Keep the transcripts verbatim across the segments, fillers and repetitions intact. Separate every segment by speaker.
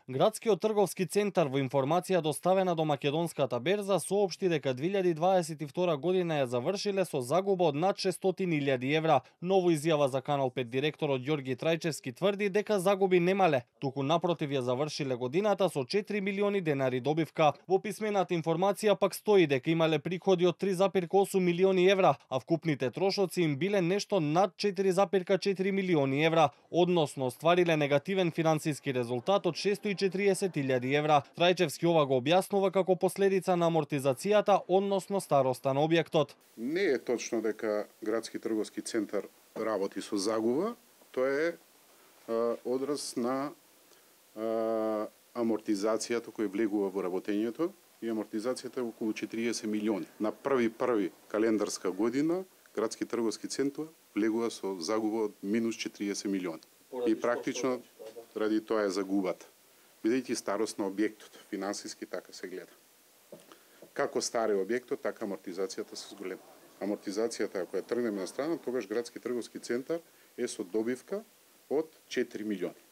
Speaker 1: Градскиот трговски центар во информација доставена до македонската берза соопшти дека две илјади дваесет и втора година ја завршиле со загуба од над шестстотини илјади евра. Ново изјава за Канал пет директорот Ѓорги Трајчевски тврди дека загуби немале, туку напротив ја завршиле годината со четири милиони денари добивка. Во писмената информација пак стои дека имале приходи од три зарез осум милиони евра, а вкупните трошоци им биле нешто над четири зарез четири милиони евра, односно оствариле негативен финансиски резултат од шестстотини и четириесет илјади евра. Трајчевски ова го објаснува како последица на амортизацијата, односно староста на објектот.
Speaker 2: Не е точно дека Градски трговски центар работи со загуба, тоа е а, одраз на а, амортизацијата која влегува во работењето, и амортизацијата е околу четириесет милиони. На први први календарска година Градски трговски центар влегува со загуба од минус четириесет милиони. И практично ради тоа е загубата. Бидејќи старост на објектот, финансиски така се гледа. Како старе објектот, така амортизацијата се зголема. Амортизацијата, ако ја тргнеме на страна, тогаш Градски трговски центар е со добивка од четири милиони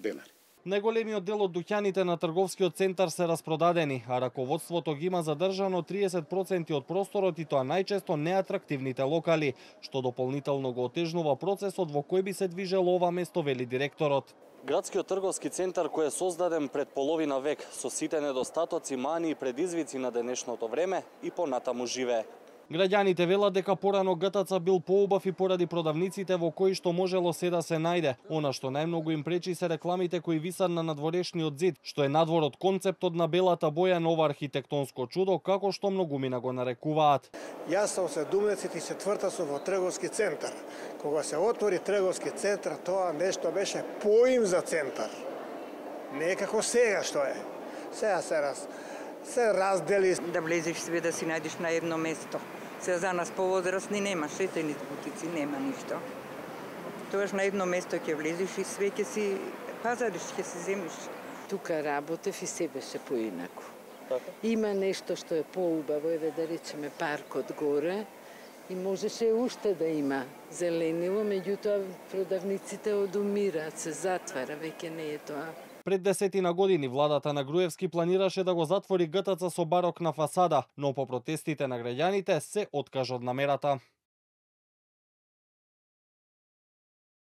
Speaker 2: денари.
Speaker 1: Најголемиот дел од дуќаните на трговскиот центар се распродадени, а раководството ги има задржано триесет проценти од просторот и тоа најчесто неатрактивните локали, што дополнително го отежнува процесот во кој би се движело ова место, вели директорот. Градскиот трговски центар кој е создаден пред половина век со сите недостатоци, мани и предизвици на денешното време и понатаму живее. Граѓаните велат дека порано ГТЦ бил поубав и поради продавниците во кои што можело се да се најде. Она што најмногу им пречи се рекламите кои висат на надворешниот зид, што е надвор од концептот на белата боја на ова архитектонско чудо, како што многумина го нарекуваат.
Speaker 3: Јас сум седумдесет и четврта сум во трговски центар. Кога се отвори трговски центар, тоа нешто беше поим за центар. Не е како сега што е. Сега се раз се раздели.
Speaker 4: Да влезеш све да си најдеш на едно место. Се за нас повозрастни нема шетени бутици, нема ништо. Тогаш на едно место ќе влезеш и све ќе си пазариш, ќе си земиш.
Speaker 5: Тука работев и се беше поинаку.
Speaker 1: Така?
Speaker 5: Има нешто што е поубаво, еве да речеме паркот горе, и можеше уште да има зеленило, меѓутоа продавниците одумираат, се затвара, веќе не е тоа.
Speaker 1: Пред десетина години владата на Груевски планираше да го затвори ГТЦ со барокна фасада, но по протестите на граѓаните се откажа од намерата.